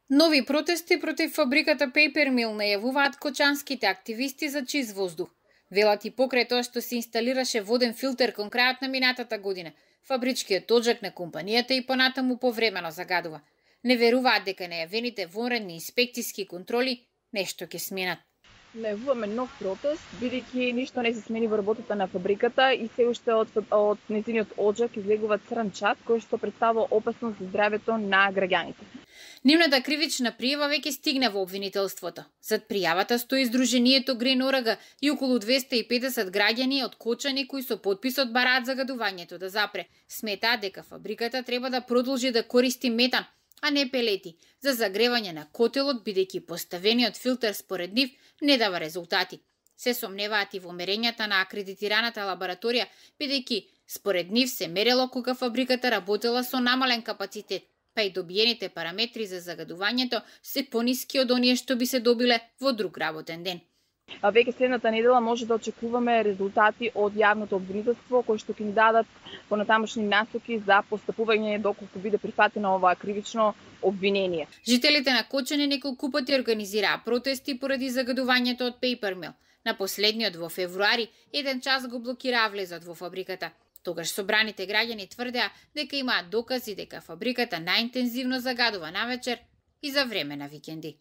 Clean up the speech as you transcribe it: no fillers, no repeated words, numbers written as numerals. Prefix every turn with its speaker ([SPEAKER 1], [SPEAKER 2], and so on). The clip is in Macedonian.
[SPEAKER 1] Нови протести против фабриката Paper Mill најавуваат кочанските активисти за чист воздух. Велат и покрај тоа што се инсталираше воден филтер кон крајот на минатата година, фабричкиот оджак на компанијата и понатаму повремено загадува. Не веруваат дека најавените вонредни инспекцијски контроли нешто ќе сменат.
[SPEAKER 2] Најавуваме нов протест, бидејќи ништо не се смени во работата на фабриката и се уште од нејзиниот оджак излегува црн чад кој што представува опасност за здравјето на граѓаните.
[SPEAKER 1] Нивната кривична пријава веќе стигна во обвинителството. Зад пријавата стои Сдруженијето Грин Орага и околу 250 граѓани од Кочани кои со потписот бараат загадувањето да запре. Сметаат дека фабриката треба да продолжи да користи метан, а не пелети, за загревање на котелот, бидејќи поставениот филтер според нив не дава резултати. Се сомневаат и во мерењата на акредитираната лабораторија, бидејќи според нив се мерело кога фабриката работела со намален капацитет, па и добиените параметри за загадувањето се пониски од оние што би се добиле во друг работен ден.
[SPEAKER 2] Веќе следната недела може да очекуваме резултати од јавното обвинителство кои што ќе ни дадат понатамошни насоки за постапување доколку биде прифатено ова кривично обвинение.
[SPEAKER 1] Жителите на Кочани неколку пати организираа протести поради загадувањето од Paper Mill. На последниот во февруари, еден час го блокираа влезот во фабриката. Тогаш собраните граѓани тврдеа дека имаат докази дека фабриката најинтензивно загадува навечер и за време на викенди.